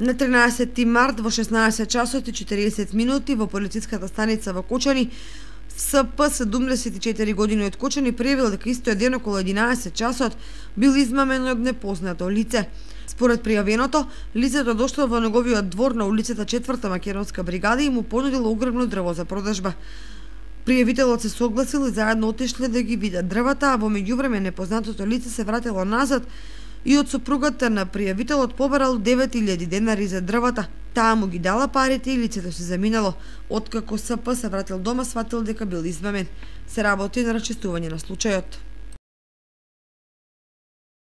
На 13 март во 16 часот и 40 минути во полициската станица во Кочани, СП 74 години од Кочани пријавил дека истој ден околу 11 часот бил измамен од непознато лице. Според пријавеното, лицето дошло во неговиот двор на улицата 4-та Македонска бригада и му понудило огромно дрво за продажба. Пријавителот се согласил и заедно отишле да ги видат дрвата, а во меѓувреме непознатото лице се вратило назад и од сопругата на пријавителот побарал 9000 денари за дрвата. Таа му ги дала парите и лицето се заминало. Откако СП се вратил дома, сватил дека бил измамен. Се работи на расчистување на случајот.